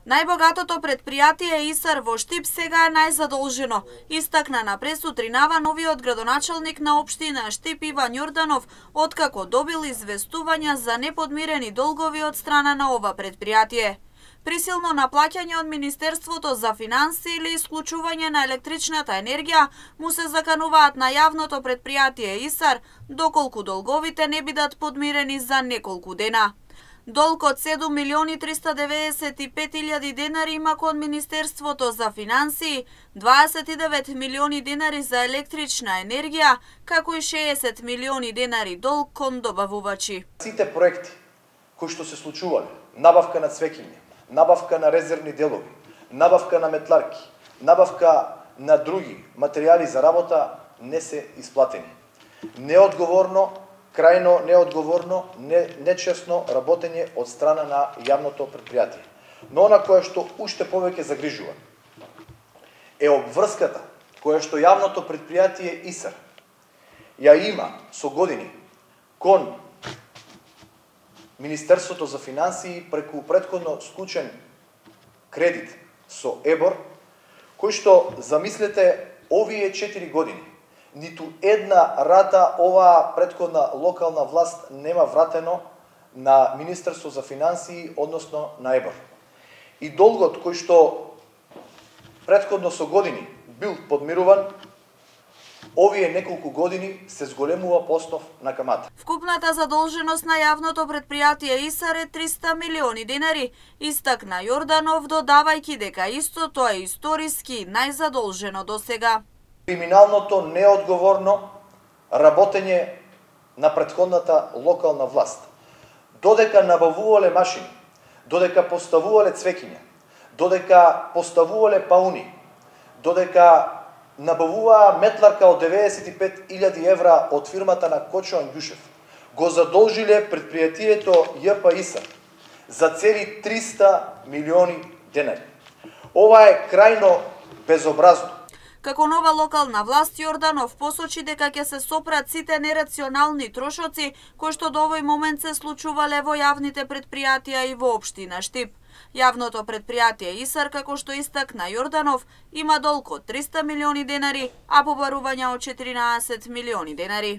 Најбогатото предпријатие ИСАР во Штип сега е најзадолжено, истакна на пресутринава новиот градоначалник на општина Штип Иван Јорданов, откако добил известувања за неподмирени долгови од страна на ова предпријатие. Присилно наплаќање од Министерството за финансии или исклучување на електричната енергија му се закануваат на јавното предпријатие ИСАР, доколку долговите не бидат подмирени за неколку дена. Долг од 7.395.000 денари има кон Министерството за финансии, 29 милиони денари за електрична енергија, како и 60 милиони денари долг кон добавувачи. Сите проекти кои што се случувале, набавка на цвеќиња, набавка на резервни делови, набавка на метларки, набавка на други материјали за работа не се исплатени. Неодговорно, крајно неодговорно, нечесно работење од страна на јавното предпријатие. Но она кое што уште повеќе загрижува е обврската која што јавното предпријатие ИСАР ја има со години кон Министерството за финансии преку претходно склучен кредит со ЕБОР, кој што, замислете, овие 4 години ниту една рата оваа претходна локална власт нема вратено на Министерство за финансии, односно на ЕБОР. И долгот кој што претходно со години бил подмируван, овие неколку години се зголемува по основ на камата. Вкупната задолженост на јавното предпријатие ИСАР е 300 милиони денари, истакна Јорданов, додавајќи дека истото е историски најзадолжено досега. Криминалното неодговорно работење на претходната локална власт, додека набавувале машини, додека поставувале цвеќиња, додека поставувале пауни, додека набавуваа метларка од 95.000 евра од фирмата на Кочо Ангјушев, го задолжиле предпријатието ЈП ИСАР за цели 300 милиони денари. Ова е крајно безобразно. Како нова локална власт, Јорданов посочи дека ќе се сопрат сите нерационални трошоци кои што до овој момент се случувале во јавните предпријатија и во општина Штип. Јавното предпријатие ИСАР, како што истакна Јорданов, има долг од 300 милиони денари, а побарувања од 14 милиони денари.